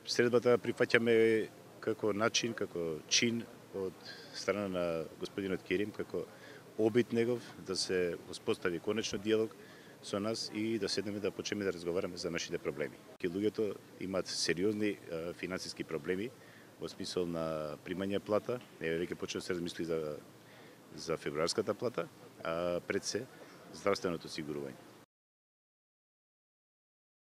Средбата прифаќаме како начин, како чин од страна на господинот Керим, како обид негов да се успостави конечно диалог со нас и да седнеме да почнеме да разговараме за нашите проблеми. Луѓето имаат сериозни финансиски проблеми во смисол на примање плата, веќе почнува се размисли за февруарската плата, а пред се здравственото осигурување.